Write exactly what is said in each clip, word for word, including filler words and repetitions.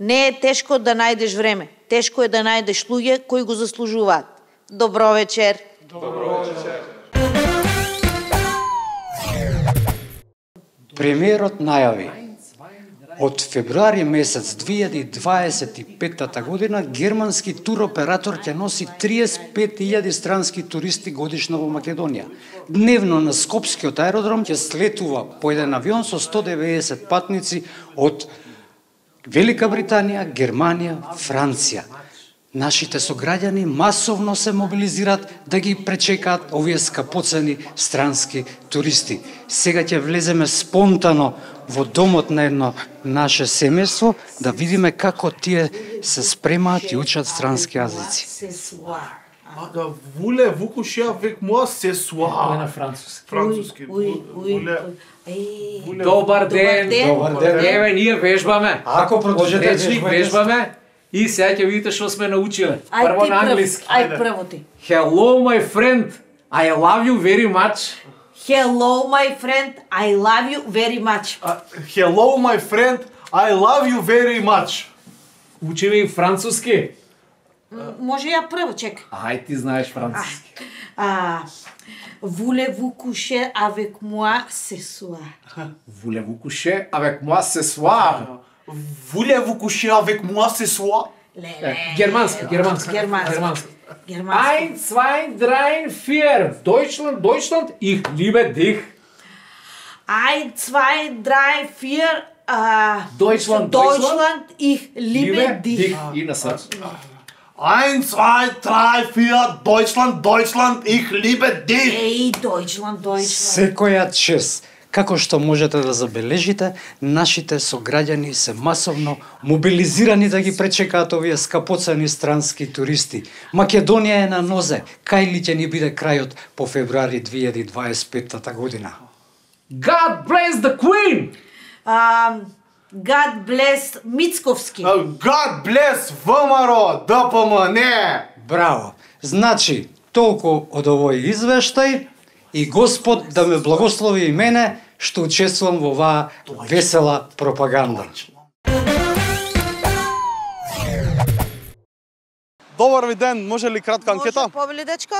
Не е тешко да најдеш време. Тешко е да најдеш луѓе кои го заслужуваат. Добро вечер. Добро вечер. Премиерот најави од февруари месец две илјади дваесет и петта година германски туроператор ќе носи триесет и пет илјади странски туристи годишно во Македонија. Дневно на Скопскиот аеродром ќе слетува по еден авион со сто деветдесет патници од Велика Британија, Германија, Франција. Нашите сограѓани масовно се мобилизираат да ги пречекаат овие скапоцени странски туристи. Сега ќе влеземе спонтано во домот на едно наше семејство да видиме како тие се спремаат и учат странски јазици. Ага, вуле вукуше avec moi ce soir. Тоа на француски. Француски. Добар ден. Добар ден. Еве ние вежбаме. Ако продолжете Вечник вежбаме и сега ќе видите што сме научиле. Ај Прво ти на прв, англиски. ај прво ти. Hello my friend. I love you very much. Hello my friend, I love you very much. Hello my friend, I love you very much. Учиме и француски. Може ја прво, чека. Ај ти знаеш француски. А, voulez-vous coucher avec moi ce soir? Voulez-vous coucher avec moi ce soir? Voulez-vous coucher avec moi ce soir? Германски, германски. Германски. Германски. Германски. Ein, zwei, drei, vier. Deutschland, Deutschland, ich liebe dich. Ein, zwei, drei, vier. Uh, Deutschland, Deutschland, ich liebe dich. И на срц. Eins, zwei, drei, vier, Deutschland, Deutschland, ich liebe dich. Ей, Deutschland, Deutschland. Секоја чест. Како што можете да забележите, нашите сограѓани се масовно мобилизирани да ги пречекаат овие скапоцени странски туристи. Македонија е на нозе. Кај ли ќе ни биде крајот по февруари две илјади дваесет и петта година? God bless the Queen! Um, God bless Мицковски. God bless ВМРО, ДПМ, не! Браво! Значи, толку од овој извештај и Господ да ме благослови и мене што учествувам во оваа весела пропаганда. Добар ви ден, може ли кратка анкета? Може повели, дечко?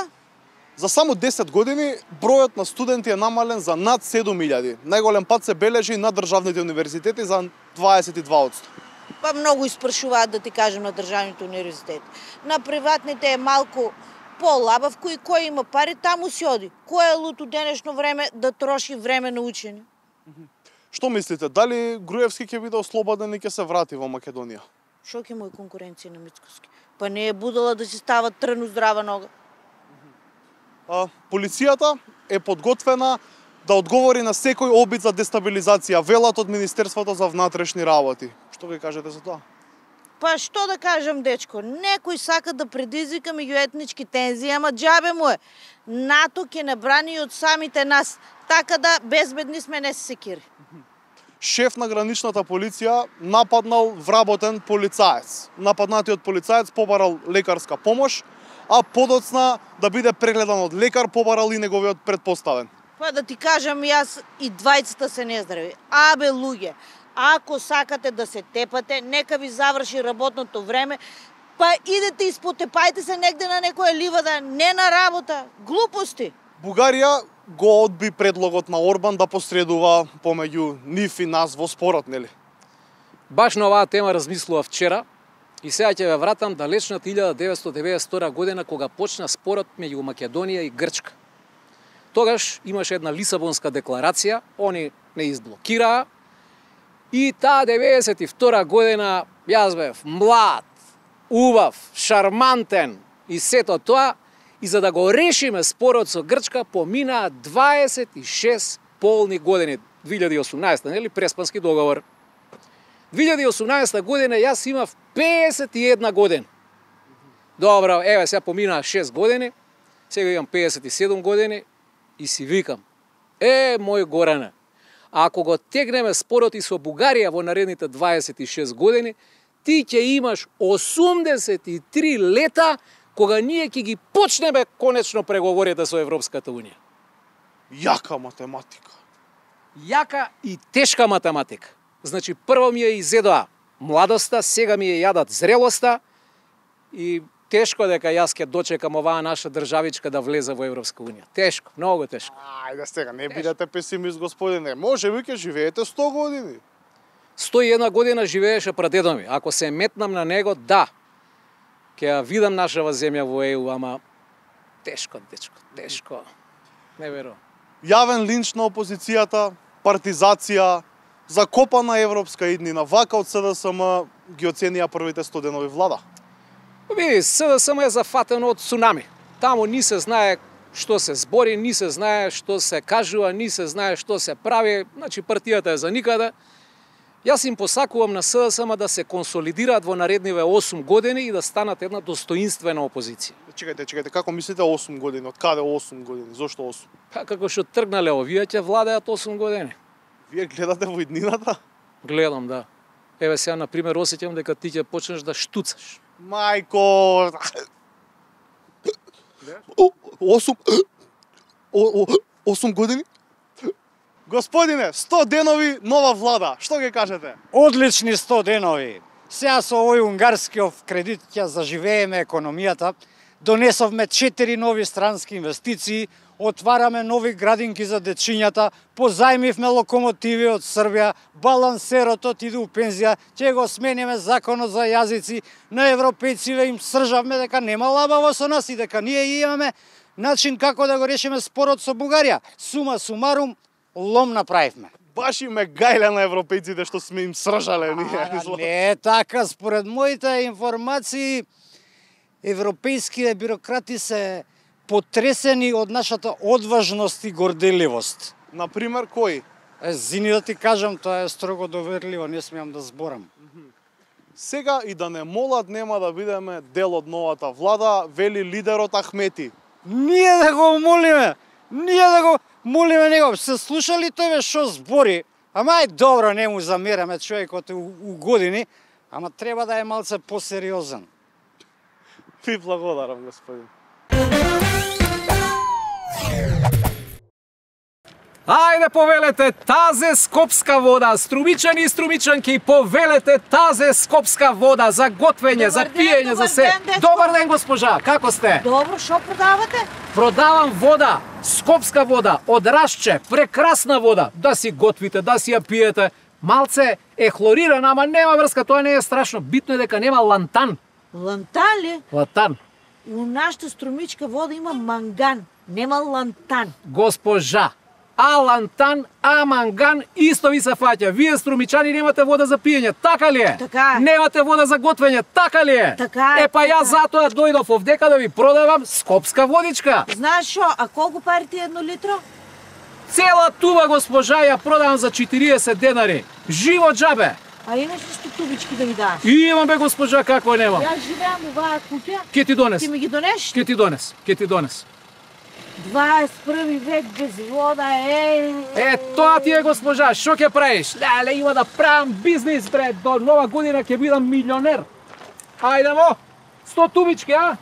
За само десет години бројот на студенти е намален за над седум илјади. Најголем пат се бележи на државните универзитети за дваесет и два одсто. Па многу испрашуваат, да ти кажем, на државните универзитети. На приватните е малку полабав, кој кој има пари, таму си оди. Кој е лут у денешно време да троши време на учење? Што мислите, дали Груевски ќе биде ослободен и ќе се врати во Македонија? Шо ќе му е конкуренција на Мицковски? Па не е будала да си става тръно здрава нога. А, полицијата е подготвена да одговори на секој обид за дестабилизација, велат од Министерството за внатрешни работи. Што ќе кажете за тоа? Па што да кажам, дечко, некој сака да предизвика меѓуетнички тензии, ама џабе му е. НАТО ќе не брани од самите нас, така да безбедни сме, не се секири. Шеф на граничната полиција нападнал вработен полицаец. Нападнатиот полицаец побарал лекарска помош, а подоцна да биде прегледан од лекар побарал и неговиот предпоставен. Па да ти кажам, јас и двајцата се нездрави. Абе, луѓе, ако сакате да се тепате, нека ви заврши работното време, па идете и спотепајте се негде на некоја ливада, не на работа. Глупости. Бугарија го одби предлогот на Орбан да посредува помеѓу нив и нас во спорот, нели? Баш на оваа тема размислува вчера и сега ќе ве вратам далечната илјада деветстотини деветдесет и втора година кога почна спорот меѓу Македонија и Грчка. Тогаш имаше една Лисабонска декларација, они не изблокираа и таа деветдесет и втора година јас бев млад, убав, шармантен и сето тоа, и за да го решиме спорот со Грчка поминаа дваесет и шест полни години. две илјади и осумнаесета, нели, Преспански договор. две илјади и осумнаесета година јас имав песет и една година. Добро, еве сега поминаа шест години, сега имам песет и седум години и си викам, е, мој Горане, ако го тегнеме спорот и со Бугарија во наредните дваесет и шест години, ти ќе имаш осумдесет и три лета кога ние ќе ги почнеме конечно преговорите со Европската Унија. Јака математика. Јака и тешка математика. Значи, прво ми ја изедоа младоста, сега ми ја јадат зрелоста и тешко дека јас ќе дочекам оваа наша државичка да влезе во Европска унија. Тешко, многу тешко. Ајде сега, не бидете песимист, господине. Може би ќе живеете сто години. сто и една година живееше прадедо ми. Ако се метнам на него, да, ќе ја видам нашава земја во Е У, ама тешко, дечко, тешко. Не верувам. Јавен линч на опозицијата, партизација, закопана европска иднина, вака од С Д С М ги оценија првите сто денови влада. Види, С Д С М е зафатено од цунами. Таму ни се знае што се збори, ни се знае што се кажува, ни се знае што се прави, значи партијата е за никаде. Јас им посакувам на С Д С М да се консолидираат во наредниве осум години и да станат една достоинствена опозиција. Чекајте, чекајте, како мислите осум години? Од каде осум години? Зошто осум? Па како што тргнале овие ќе владеат осум години. Вие гледате во иднината? Гледам, да. Еве сега, на пример, осеќам дека ти ќе почнеш да штуцаш. Мајко... осум... осум години? Господине, сто денови нова влада. Што ги кажете? Одлични сто денови. Сега со овој унгарскиот кредит ќе заживееме економијата. Донесовме четири нови странски инвестиции, отвараме нови градинки за дечињата, позајмивме локомотиви од Србија, балансеротот иде у пензија, ќе го смениме законот за јазици, на европејциве им сржавме дека нема лабаво со нас и дека ние имаме начин како да го решиме спорот со Бугарија. Сума сумарум, лом направивме. Баш им ме гајле на европејците што сме им сржале ние. А, не е така, според моите информации, европејските бюрократи се потресени од нашата одважност и горделивост. Например, кој? Е, зини да ти кажам, тоа е строго доверливо, не смеам да зборам. Сега и да не молат нема да бидеме дел од новата влада, вели лидерот Ахмети. Ние да го молиме, ние да го молиме него. Се слушали тој што збори? Ама е добро, не му замераме, човекот у, у години, ама треба да е малце посериозен. Ви благодарам, господин. Ајде повелете тазе скопска вода, струмичани и струмичанки, повелете тазе скопска вода за готвење, за пиење, за се. Добар ден, госпожа, како сте? Добро, што продавате? Продавам вода, скопска вода, од Рашче, прекрасна вода, да си готвите, да си ја пиете. Малце е хлорирана, ама нема врска, тоа не е страшно. Битно е дека нема лантан. Лантан ли? Лантан. У нашата струмичка вода има манган, нема лантан. Госпожа, а лантан, а манган исто ви се фаќа. Вие струмичани немате вода за пиење, така ли е? Така е. Немате вода за готвење, така ли е? Така е, Е па јас така. затоа дојдов овдека да ви продавам скопска водичка. Знаеш што, а колку пари ти едно литро? Цела туба, госпожа, ја продавам за четириесет денари. Живо џабе. А имаш ли сто тубички да ми даш? И имам бе, госпожа, како немам. Јас живеам у оваа куќа. Ке ти донес. Ти ми ги донеш? Ке ти донес. Ке ти донес. дваесет и први век без вода, е. Е, тоа ти е, госпожа, шо ќе правиш? Леле, има да правам бизнис, бре, до нова година ќе бидам милионер. Ајде во, сто тубички, а?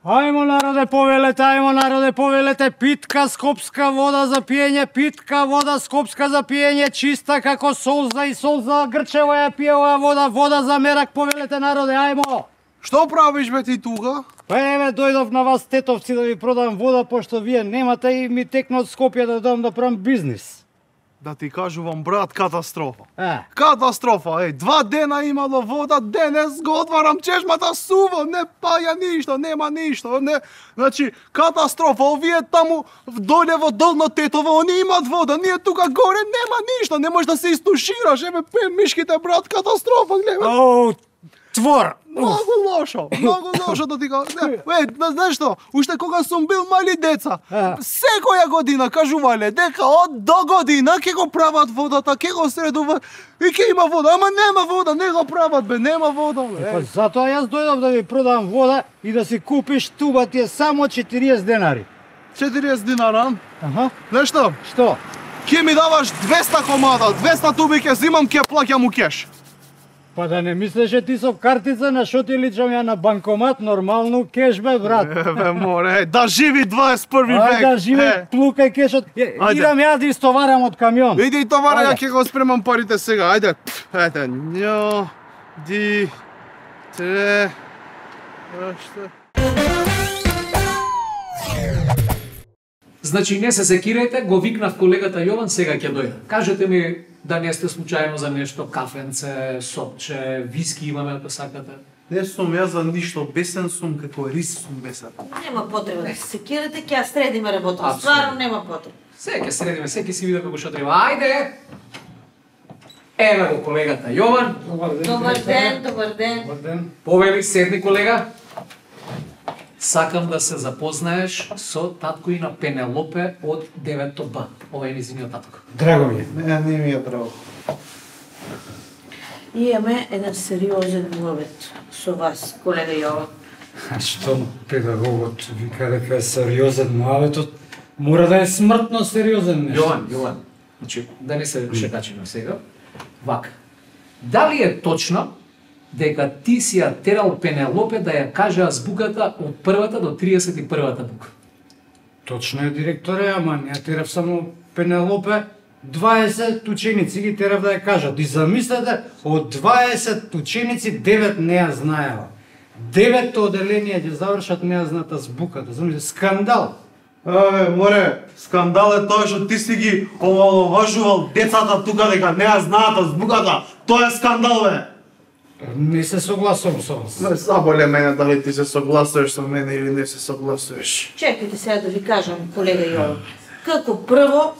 Ајмо народе повелете, ајмо народе повелете, питка скопска вода за пиење, питка вода скопска за пиење, чиста како солза и солза грчево ја пие оваа вода, вода за мерак повелете народе, ајмо! Што правиш бе ти тука? Па еве дојдов на вас тетовци да ви продам вода, пошто вие немате и ми текна од Скопје да дам да правам бизнис. Да ти кажувам, брат, катастрофа. Е. Катастрофа, еј, два дена имало вода, денес го отварам чешмата сува, не паја ништо, нема ништо, не, значи, катастрофа, овие таму доле во долно Тетово, они имаат вода, ние тука горе нема ништо, не можеш да се истушираш, еве пе мишките, брат, катастрофа, гледа. Оу, твор! Многу лошо, многу лошо да ти кажам. Е, знаеш што, уште кога сум бил мали деца, А. секоја година кажувале дека од до година ќе го прават водата, ќе го средува и ќе има вода, ама нема вода, не го прават бе, нема вода бе. Па затоа јас дојдов да ви продам вода и да си купиш туба ти е само четириесет денари. четириесет динара. Аха, Знаеш што? што? Ќе ми даваш двеста комада, двеста туби ќе зимам, ќе плаќам у кеш. Па да не мислеше ти со картица на шо ти личам ја на банкомат, нормално кеш бе, брат. Еве, море, да живи дваесет и први век. Ај да живи, Е. плукај кешот. Е, Ајде. Идам ја да истоварам од камион. Иди и товара, ја Ајде. ќе го спремам парите сега. Ајде. Ајде. Њо, ди, тре, оште. Значи не се секирајте, го викнав колегата Јован, сега ќе дојде. Кажете ми да не сте случајно за нешто, кафенце, сопче, виски имаме ако сакате. Не сум јас за ништо, бесен сум како рис сум бесен. Нема потреба да се секирате, ќе ја средиме работа. Апсолутно. Стварно нема потреба. Се ќе средиме, се ќе си види како што треба. Ајде! Еве го колегата Јован. Добар ден, добар ден. Повели, седни колега. Сакам да се запознаеш со татко и на Пенелопе од девето Б. Ова е низиниот татко. Драго ми е. Не, не ми е драго. Имаме еден сериозен муавет со вас, колега Јован. А што педагогот вика дека е сериозен муаветот, мора да е смртно сериозен нешто. Јован, Јован. Значи, да не се шекачиме сега. Вака. Дали е точно дека ти си ја терал Пенелопе да ја каже азбуката од првата до триесет и првата бука? Точно е, директоре, ама не ја терав само Пенелопе, дваесет ученици ги терав да ја кажат. И замислете, од дваесет ученици девет не ја знаела. Деветто оделение ќе завршат не ја знаат азбуката. Замислете, скандал. Абе, море, скандал е тоа што ти си ги омаловажувал децата тука дека не ја знаат азбуката. Тоа е скандал, бе. Не се согласувам со вас. Не заболе мене дали ти се согласуваш со мене или не се согласуваш. Чекайте сега да ви кажам, колега Јован. Како прво,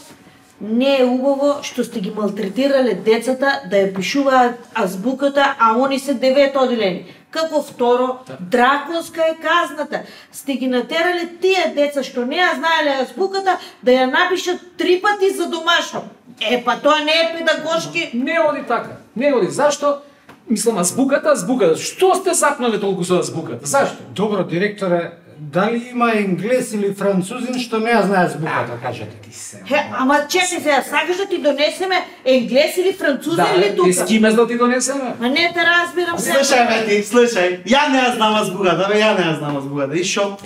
не е убаво што сте ги малтретирале децата да ја пишуваат азбуката, а они се девет оделени. Како второ, драконска е казната. Сте ги натерале тие деца што не ја знаеле азбуката да ја напишат три пати за домашно. Е, па тоа не е педагошки. Не оди така. Не оди. Зашто? Мислам, азбуката, азбуката. Што сте запнале толку со азбуката? Зашто? Добро, директоре, дали има енглес или французин што не ја знае азбуката, кажете ти се. Е, ама чекай сега, сакаш да ти донесеме енглес или французин Да, или тука? е, с киме да ти донесеме? Ма не те разбирам сега. Слушај, бе ти, слушај, ја не ја знам азбуката, бе, ја не ја знам азбуката. И шо?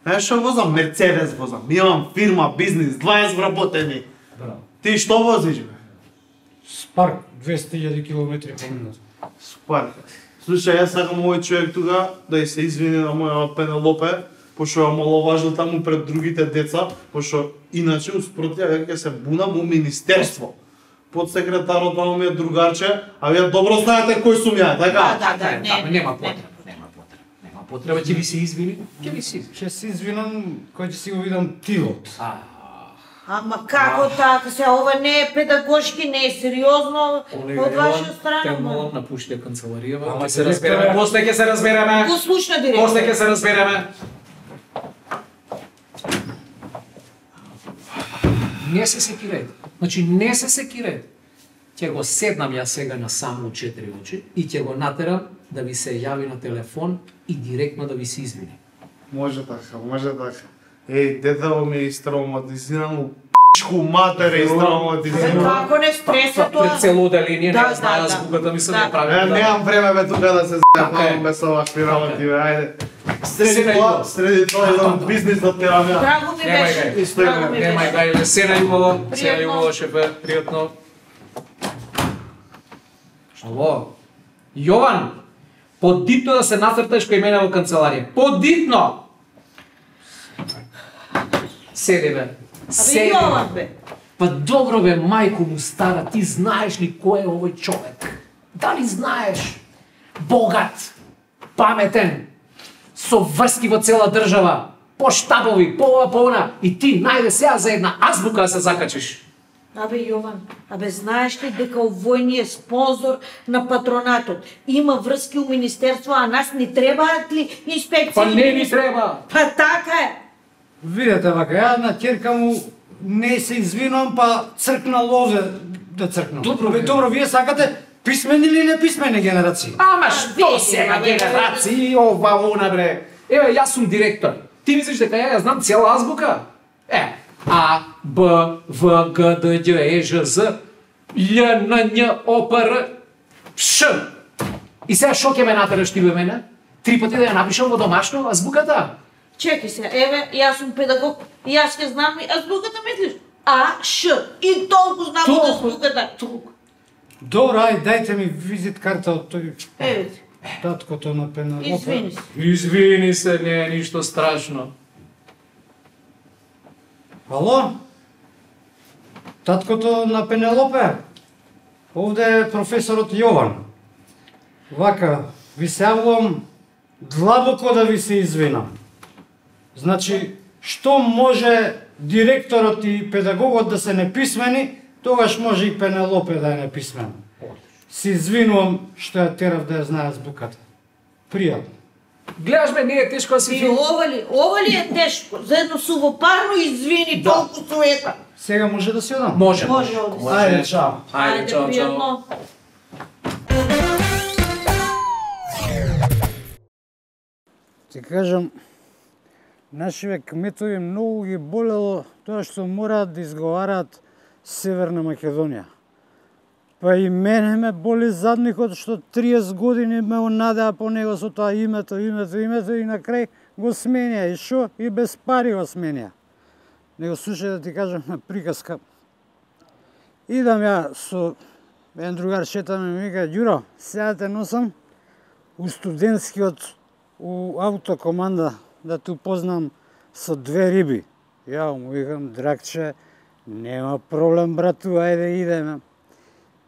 Е, шо возам? Мерцедес возам. Имам фирма, бизнис, дваесет вработени. Браво. Ти што возиш, бе? Спарк, двесте илјади километри по минута. Спар. Слушај, јас сакам овој човек тука да ја се извини на моја Пенелопе, пошто ја маловажил таму пред другите деца, пошто иначе успроти ја ќе се бунам у министерство. Подсекретарот таму ми е другарче, а вие добро знаете кој сум ја, така? Да, да, да, не. Ама нема потреба, нема потреба. Нема потреба, ќе ви се извини. Ќе ви се извини. Ќе се извинам кој ќе си го видам тилот. А, Ама како така се, ова не е педагошки, не е сериозно колега од ваша Јован, страна. те ма. молам напушти канцеларијава. Ама, Ќе се директор, разбереме, после ќе се разбереме. Го слушна директор. После ќе се разбереме. Не се секирајте. Значи не се секирајте. Ќе го седнам ја сега на само четири очи и ќе го натерам да ви се јави на телефон и директно да ви се извини. Може така, може така. Еј, детево ми е истравматизирано, пичку матер е Бе, истравматизирано. како не стреса тоа? Пред цело оделение Да, не да, знае да. азбуката ми се Да. не прави. Е, да. немам време бе тука да се Така е. зајавам без овакви работи, бе, ајде. Среди Се тоа, најдобро. среди тоа еден бизнис да терам ја. Драго ми Немај беше. гај. Исто Драго има. ми Немај беше. гајле, се најубаво, се Пријатно. најубаво, шефе, пријатно. Ало, Јован, подитно да се нацрташ кај мене во канцеларија. Подитно! Седи бе. Абе, Седи. Јован бе. Па добро бе, мајко му стара, ти знаеш ли кој е овој човек? Дали знаеш? Богат, паметен, со врски во цела држава, по штабови, по ова, по она, и ти најде сега за една азбука да се закачиш. Абе Јован, абе знаеш ли дека овој е спонзор на патронатот? Има врски у министерство, а нас ни требаат ли инспекции? Па не ни треба. Па така е. Видете вака, ја на ќерка му не се извинувам, па цркна лове да цркнам. Добро, Бе, бе. добро, вие сакате писмени или неписмени генерации? Ама А, што види, сега бе, бе, генерации, ова, она бре. Еве, јас сум директор. Ти мислиш дека ја ја знам цела азбука? Е, А, Б, В, Г, Д, Đ, Е, Ж, З, Л, Н, Њ, О, П, Р, Ш. И сега шо ќе ме натераш ти бе мене? Три пати да ја напишам во домашно азбуката? Чекај се, еве, јас сум педагог, и јас ќе знам и азбуката мислиш? А, Ш, и толку знам од азбуката. Толку. Добро, ај, дајте ми визит карта од тој Еве, таткото на Пенелопе. извини се. Извини се, не е ништо страшно. Ало? Таткото на Пенелопе? Овде е професорот Јован. Вака, ви се јавувам длабоко да ви се извинам. Значи, што може директорот и педагогот да се неписмени, тогаш може и Пенелопе да е неписмена. Се извинувам што ја терав да ја знае азбуката. Пријатно. Гледаш ме, не е тешко да си И ова ли, ова ли е тешко? За едно сувопарно извини, толку суета. Сега може да си одам? Може. Може, оди. Ајде, чао. Ајде, чао, чао. пријатно. Ти кажам, нашиве кметови многу ги болело тоа што мораат да изговараат Северна Македонија. Па и мене ме боли задникот што триесет години ме онадеа по него со тоа името, името, името и на крај го сменија. И шо? И без пари го сменија. Него слушај да ти кажам на приказка. Идам ја со еден другар шетаме ми вика, Ѓуро, сега те носам у студентскиот у автокоманда да те упознам со две риби. Ја му викам, драгче, нема проблем, брату, ајде идеме.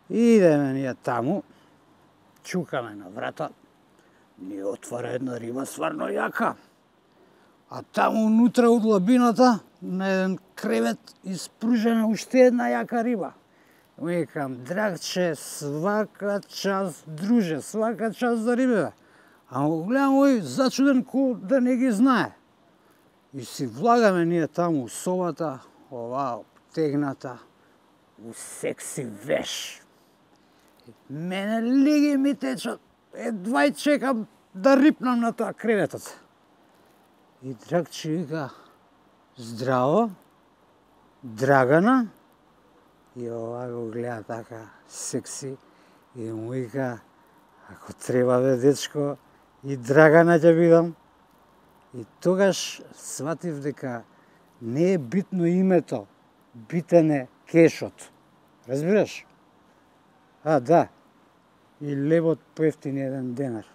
Идеме ние таму, чукаме на врата, ни отвара една риба сварно јака. А таму унутра од лабината, на еден кревет, испружена уште една јака риба. Викам, драгче, свака час, друже, свака час за рибе. А го гледам ој зачуден ко да не ги знае. И си влагаме ние таму у собата, оваа обтегната, у секси веш. Мене лиги ми течат, едва и чекам да рипнам на тоа креветот. И Драгче вика, здраво, Драгана, и ова го гледа така секси, и му вика, ако треба бе дечко, и Драгана ќе бидам. И тогаш сватив дека не е битно името, битен е кешот. Разбираш? А, да. И лебот поевтини еден денар.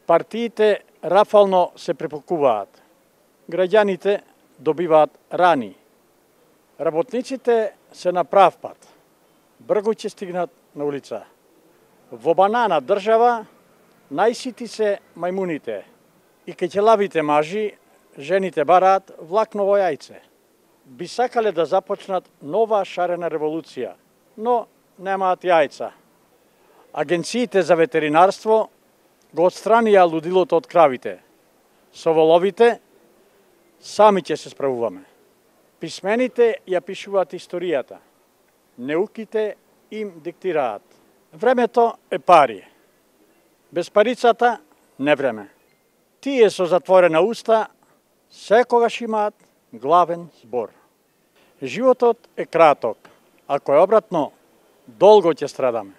Партиите рафално се препокуваат. Граѓаните добиваат рани. Работниците се на прав пат. Брго ќе стигнат на улица. Во банана држава најсити се мајмуните и кеќелавите мажи, жените бараат влакново јајце. Би сакале да започнат нова шарена револуција, но немаат јајца. Агенциите за ветеринарство го отстранија лудилото од кравите. Со воловите сами ќе се справуваме. Писмените ја пишуваат историјата. Неуките им диктираат. Времето е пари. Без парицата не време. Тие со затворена уста секогаш имаат главен збор. Животот е краток. Ако е обратно, долго ќе страдаме.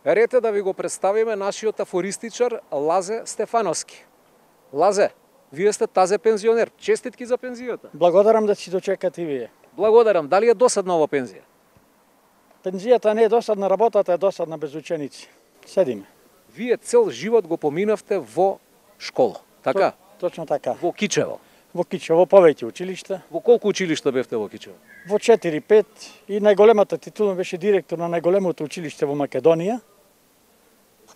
Рете да ви го представиме нашиот афористичар Лазе Стефановски. Лазе, вие сте тазе пензионер. Честитки за пензијата. Благодарам да си дочекате и вие. Благодарам. Дали е досадна ова пензија? Пензијата не е досадна, работата е досадна без ученици. Седиме. Вие цел живот го поминавте во школа, така? Точно така. Во Кичево. Во Кичево, во повеќе училишта. Во колку училишта бевте во Кичево? Во четири пет и најголемата титула беше директор на најголемото училиште во Македонија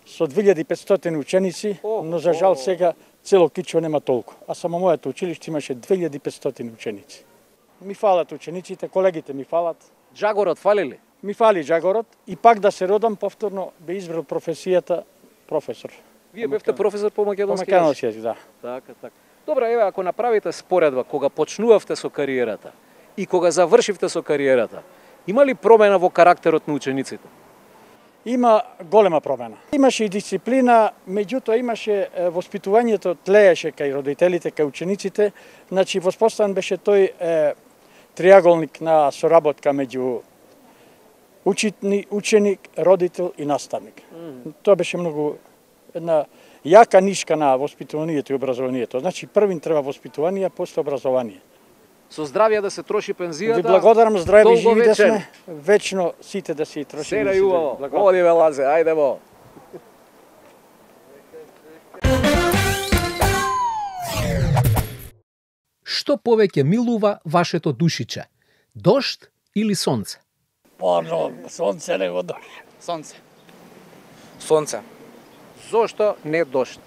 со две илјади и петстотини ученици, но за жал сега цело Кичево нема толку. А само моето училиште имаше две илјади и петстотини ученици. Ми фалат учениците, колегите ми фалат. Джагорот фали ли? Ми фали Джагорот и пак да се родам повторно бе избрал професијата професор. Вие бевте професор по По македонски македонски јазик, да. Така, така. Добра, еве, ако направите споредба кога почнувавте со кариерата и кога завршивте со кариерата, има ли промена во карактерот на учениците? Има голема промена. Имаше и дисциплина, меѓутоа имаше е, воспитувањето тлееше кај родителите, кај учениците, значи воспоставен беше тој е, триаголник на соработка меѓу учитни, ученик, родител и наставник. Mm. Тоа беше многу една јака нишка на воспитуванието и образованието. Значи првин треба воспитување, после образование. Со здравје да се троши пензијата. Ви благодарам, здрави живи да сме. Вечно сите да си троши. Се најубаво. Оди бе Лазе, ајде бо. Што повеќе милува вашето душиче? Дожд или сонце? Порно, сонце него дожд. Сонце. Сонце. Зошто не дожд?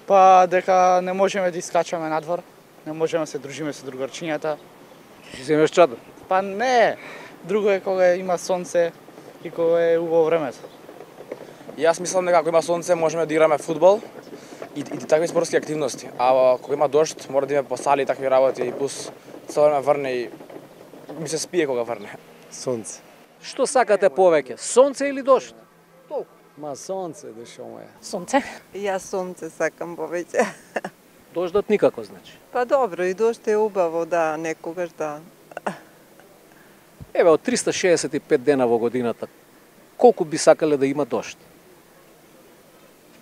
Па дека не можеме да искачаме надвор, не можеме да се дружиме со другарчињата. Си земеш чадор? Па не, друго е кога има сонце и кога е убаво времето. Јас мислам дека ако има сонце можеме да играме фудбал и, и такви спортски активности. А кога има дожд мора да име по сали и такви работи и пус цело време врне и ми се спие кога врне. Сонце. Што сакате повеќе? Сонце или дожд? Толку. Ма сонце, душо моја. Сонце. Јас сонце сакам повеќе. Дождот никако, значи. Па добро, и дожд е убаво, да, некогаш да. Еве, од триста шеесет и пет дена во годината, колку би сакале да има дожд?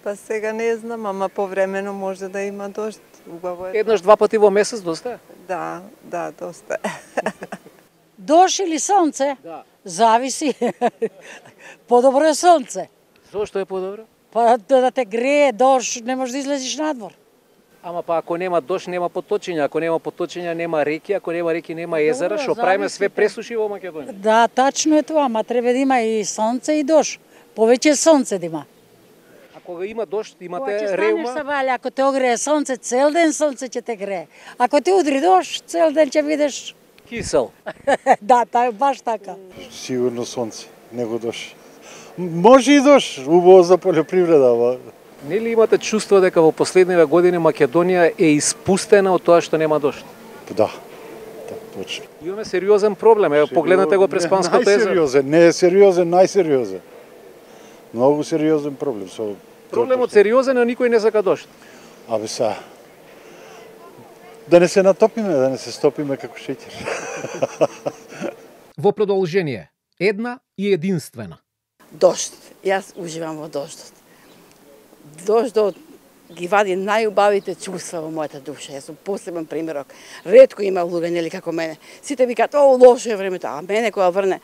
Па сега не знам, ама повремено може да има дожд. Убаво е. Еднаш, два пати во месец доста е? Да, да, доста е. Дожд или сонце? Да. Зависи. Подобро е сонце. Зошто е подобро? Па да те грее дожд, не можеш да излезеш надвор. Ама па ако нема дожд, нема поточиња, ако нема поточиња, нема реки, ако нема реки, нема езера, што правиме све пресуши во Македонија. Да, тачно е тоа, ама треба да има и сонце и дожд. Повеќе сонце да има. А кога има дожд, имате Кога ќе реума? станеш сабале, ако те огрее сонце, цел ден сонце ќе те грее. Ако те удри дожд, цел ден ќе видиш кисел. Да, та, баш така. Сигурно сонце, него дожд. Може и дожд, убаво за полјопривреда, ама Нели имате чувство дека во последниве години Македонија е испустена од тоа што нема дожд? Да, да, точно. Имаме сериозен проблем, ево погледнете го през Панското езеро. Најсериозен, не е сериозен, најсериозен. Многу сериозен проблем со Проблемот сериозен, а никој не сака дожд. Абе са. Да не се натопиме, да не се стопиме како шеќер. Во продолжение, една и единствена. Дожд. Јас уживам во дождот. Дождот ги вади најубавите чувства во мојата душа. Јас сум посебен примерок. Ретко има луѓе нели како мене. Сите викаат: "О, лошо е времето." А мене кога врне,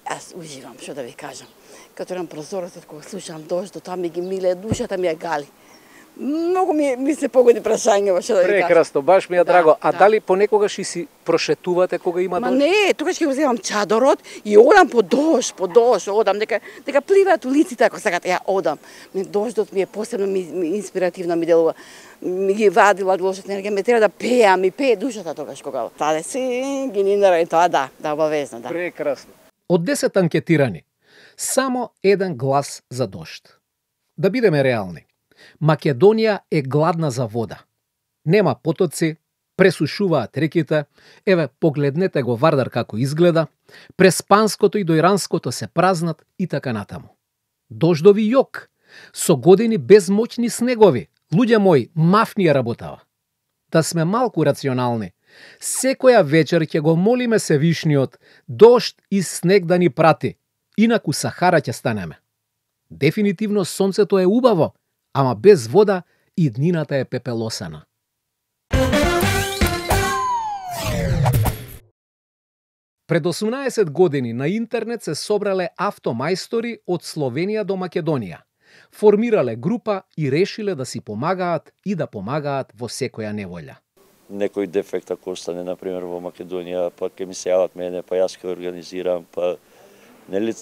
јас уживам, што да ви кажам. Като на прозорецот кога слушам дождот, тоа ми ги миле, душата ми ја гали. Многу ми, ми се погоди прашање, што да ви кажам. Прекрасно, баш ми е Да, драго. А да. дали понекогаш и си прошетувате кога има Ма дожд? не, тогаш ќе го земам чадорот и одам по дожд, по дожд, одам, дека, дека пливаат улиците, ако сакате, ја одам. Ме дождот ми е посебно ми, ми инспиративно ми делува. Ми ги вади лошата енергија, ме треба да пеам, ми пее душата тогаш кога. Таде си ги нинара и тоа да, да обавезно, да. Прекрасно. Од десет анкетирани, само еден глас за дожд. Да бидеме реални. Македонија е гладна за вода. Нема потоци, пресушуваат реките, еве погледнете го Вардар како изгледа, през Панското и до Иранското се празнат и така натаму. Дождови јок, со години без моќни снегови, луѓе мои, мафни ја работава. Да сме малку рационални, секоја вечер ќе го молиме Севишниот дожд и снег да ни прати, инаку Сахара ќе станеме. Дефинитивно сонцето е убаво, ама без вода и днината е пепелосана. Пред осумнаесет години на интернет се собрале автомајстори од Словенија до Македонија. Формирале група и решиле да си помагаат и да помагаат во секоја неволја. Некој дефект ако остане, например, во Македонија, па ќе ми се јават мене, па јас ќе организирам, па нели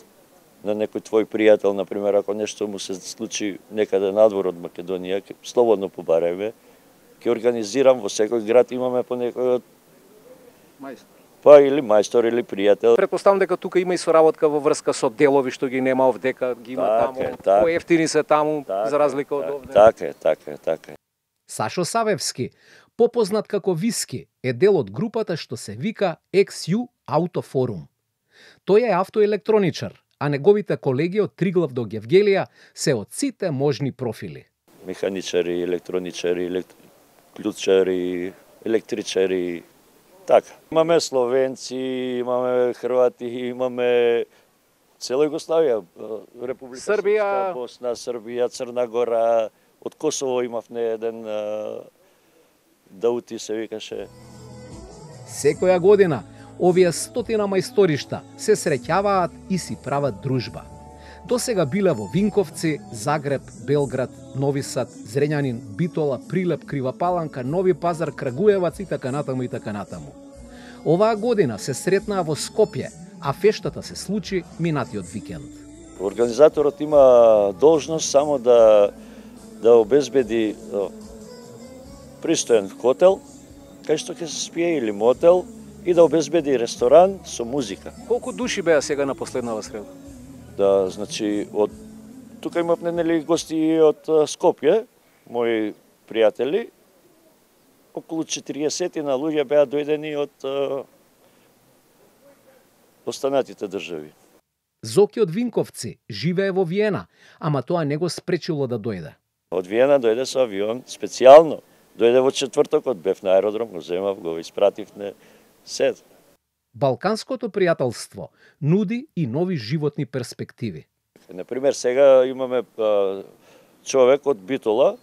на некој твој пријател, например, ако нешто му се случи некаде надвор од Македонија, ќе слободно побарајме, ќе организирам во секој град, имаме по некој Мајстор. Па или мајстор или пријател. Претпоставам дека тука има и соработка во врска со делови што ги нема овдека, ги има Так таму, е, так. поевтини се таму, Так за е, разлика од так, овде. Така е, така е, така е. Сашо Савевски, попознат како Виски, е дел од групата што се вика екс ју Autoforum. Тој е автоелектроничар, а неговите колеги од Триглав до Гевгелија се од сите можни профили. Механичари, електроничари, елект... клучари, електричари, така. Имаме словенци, имаме хрвати, имаме цела Југославија, Република Србија, Српска, Босна, Србија, Црна Гора, од Косово имав не еден Даути се викаше. Секоја година овие стотина мајсторишта се среќаваат и си прават дружба. До сега биле во Винковци, Загреб, Белград, Нови Сад, Зрењанин, Битола, Прилеп, Крива Паланка, Нови Пазар, Крагуевац и така натаму и така натаму. Оваа година се сретнаа во Скопје, а фештата се случи минатиот викенд. Организаторот има должност само да да обезбеди пристоен хотел, кај што ќе се спие или мотел, и да обезбеди ресторан со музика. Колку души беа сега на последнава среда? Да, значи, од тука имавме нели гости од Скопје, мои пријатели, околу четириесет на луѓе беа дојдени од останатите држави. Зоки од Винковци живее во Виена, ама тоа не го спречило да дојде. Од Виена дојде со авион специјално. Дојде во четвртокот, бев на аеродром, го земав, го испратив на сед. Балканското пријателство нуди и нови животни перспективи. Например, сега имаме а, човек од Битола,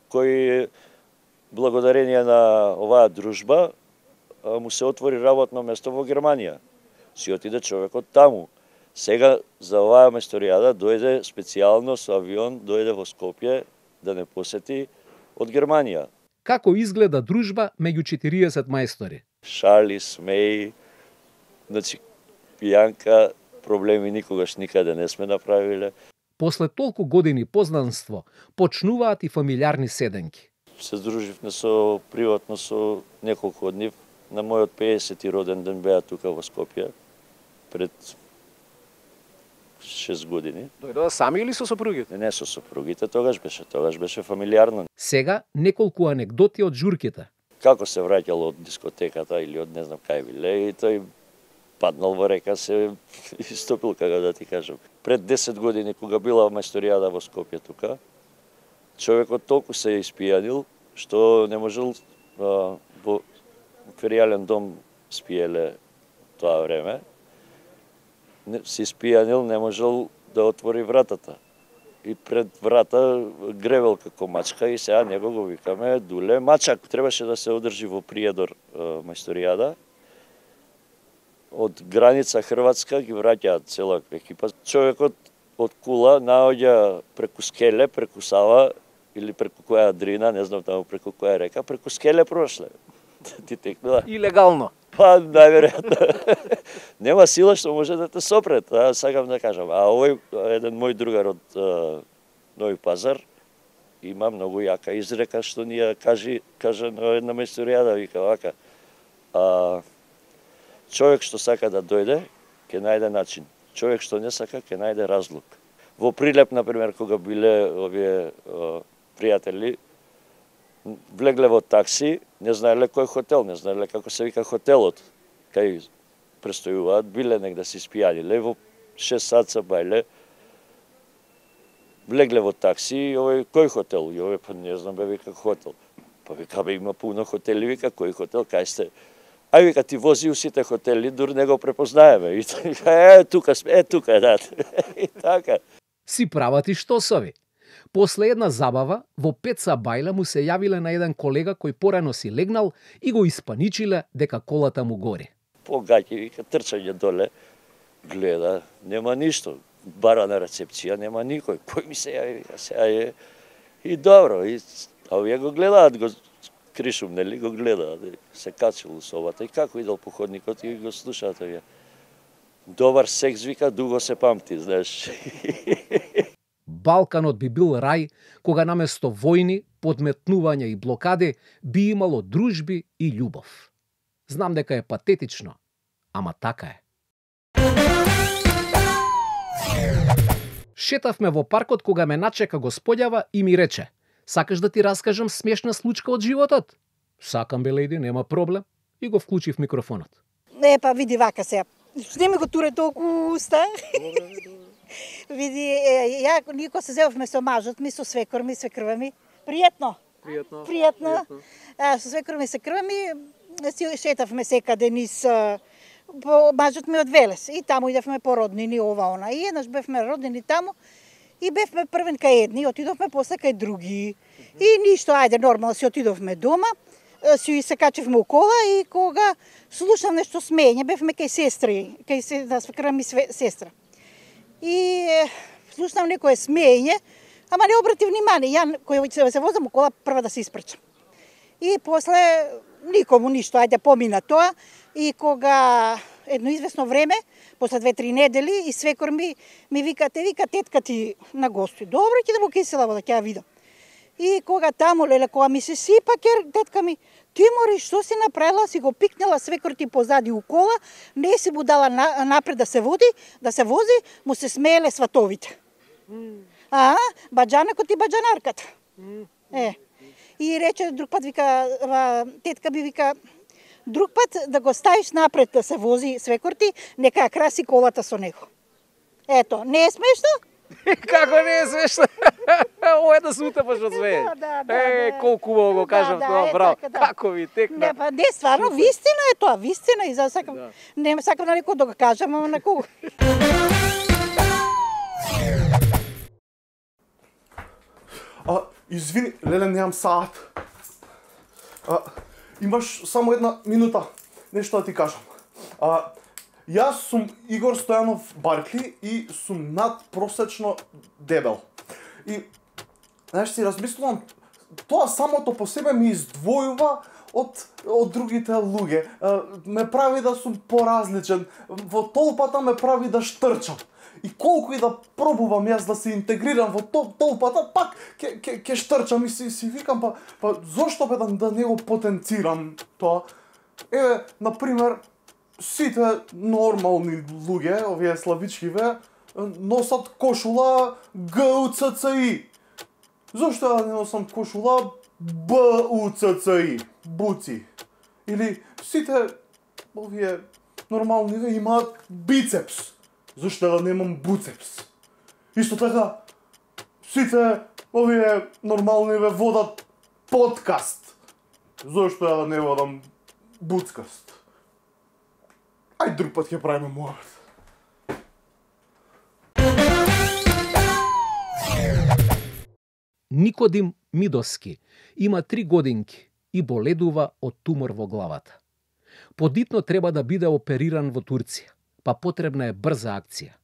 кој благодарение на оваа дружба а, му се отвори работно место во Германија. Си отиде човекот таму. Сега за оваа мајсторијада дојде специјално со авион, дојде во Скопје да не посети од Германија. Како изгледа дружба меѓу четириесет мајстори? Шали, смеи, значи пијанка, проблеми никогаш никаде не сме направиле. После толку години познанство, почнуваат и фамилиарни седенки. Се друживме со приватно со неколку од нив. На мојот пеесети роден ден беа тука во Скопје пред шест години. Дојдоа сами или со сопругите? Не, со сопругите, тогаш беше, тогаш беше фамилиарно. Сега неколку анекдоти од журките. Како се враќал од дискотеката или од не знам кај биле, и тој паднал во река, се истопил, како да ти кажам. Пред десет години, кога била мајсторијада во Скопје тука, човекот толку се испијанил, што не можел а, во феријален дом спиеле тоа време, се испијанил, не можел да отвори вратата. И пред врата гребел како мачка и сега него го викаме Дуле Мачак. Требаше да се одржи во Приедор мајсторијада. Од граница Хрватска ги враќаат цела екипа. Човекот од Кула наоѓа преку Скеле, преку Сава или преку која дрина, не знам таму преку која река, преку Скеле прошле. Ти текнува. Илегално. Па, најверојатно. Нема сила што може да те сопрет, а сакам да кажам. А овој еден мој другар од а, Нови Пазар има многу јака изрека што ни ја кажи, кажа на една мајсторијада, вика вака. А, човек што сака да дојде, ќе најде начин. Човек што не сака, ќе најде разлог. Во Прилеп, например, кога биле овие а, пријатели, влегле во такси, не знаеле кој хотел, не знаеле како се вика хотелот, кај престојуваат, биле негде се испијаниле, во шест саца бајле, влегле во такси, и овој кој хотел? И овој, па не знам, бе, вика хотел. Па вика, бе, има пуно хотели, вика, кој хотел, кај сте? Ај, вика, ти вози у сите хотели, дур не го препознаеме. И вика, е, тука сме, е, тука, да. И така. Си прават и штосови. После една забава, во Пеца Бајла му се јавиле на еден колега кој порано си легнал и го испаничиле дека колата му гори. Погаќи, вика, трчање доле, гледа, нема ништо. Бара на рецепција, нема никој. Кој ми се јави, вика, сега е. И добро, и, а овие го гледаат, го кришум, нели, го гледаат, се качил у собата. И како идел по ходникот и го слушаат овие. Добар секс, вика, дуго се памти, знаеш. Балканот би бил рај кога наместо војни, подметнувања и блокади би имало дружби и љубов. Знам дека е патетично, ама така е. Шетавме во паркот кога ме начека господјава и ми рече: "Сакаш да ти раскажам смешна случка од животот?" "Сакам, бе, леди, нема проблем." И го вклучив микрофонот. Не, па види вака сега. Не ми го туре толку уста. Види, ја никога се зевавме со мажот ми, со свекор ми, свекрва ми. Пријатно. Пријатно. Пријатно. А, со свекор ми, свекрва ми, си шетавме секаде низ мажот ми од Велес. И таму идевме по роднини, ова, она. И еднаш бевме роднини таму и бевме првен кај едни, отидовме после кај други. И ништо, ајде, нормално си отидовме дома, си се качевме у кола и кога слушам нешто смење, бевме кај сестри, кај се, да свекра ми сестра. И слушам некое смење, ама не обрати внимание, ја кој се возам у кола прва да се испрчам. И после никому ништо, ајде помина тоа. И кога едно известно време, после две-три недели, и свекор ми ми вика, те вика тетка ти на гости. Добро, ќе идемо кај села, да ќе ја видам. И кога таму, леле, кога ми се сипа, кер, тетка ми, ти мори, што си направила, си го пикнала свекор ти позади у кола, не си му дала на, напред да се води, да се вози, му се смееле сватовите. Mm. А, баджанакот и баджанарката. Mm. Е. И рече друг пат, вика, тетка би вика, друг пат да го ставиш напред да се вози свекор ти, нека ја краси колата со него. Ето, не е смешно? Како не е смешно? Ова е да се утепаш од све. Да, да, е, да. колку убаво го кажав да, тоа, да, браво. така, да. Како ви текна? Не, па, не, стварно, вистина е тоа, вистина. И за сакам, да. Не сакам на некој да го кажам, ама на кого. А, извини, леле, немам саат. А, имаш само една минута, нешто да ти кажам. А, јас сум Игор Стојанов Баркли и сум надпросечно дебел. И, знаеш, си размислувам, тоа самото по себе ми издвојува од, од другите луѓе. А, ме прави да сум поразличен, во толпата ме прави да штрчам. И колку и да пробувам јас да се интегрирам во толпата, пак ќе ќе ќе штрчам и си си викам, па па зошто бе да, да не го потенцирам тоа? Еве, на пример, сите нормални луѓе, овие славичкиве, носат кошула Г У Ц Ц И. Зошто ја не носам кошула Б У Ц Ц И? Буци. Или сите овие нормалниве имаат бицепс. Зошто да немам буцепс? Исто така, сите овие нормалниве водат подкаст. Зошто ја да не водам буцкаст? Ај друг пат ќе правиме муавет. Никодим Мидоски има три годинки и боледува од тумор во главата. Подитно треба да биде опериран во Турција, па потребна е брза акција.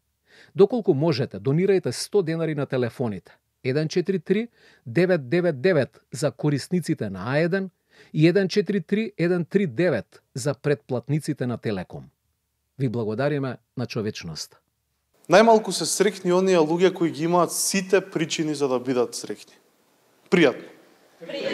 Доколку можете, донирајте сто денари на телефоните еден четири три девет девет девет за корисниците на А еден и еден четири три еден три девет за претплатниците на Телеком. Ви благодариме на човечноста. Најмалку се среќни оние луѓе кои ги имаат сите причини за да бидат среќни. Пријатно. Пријатно.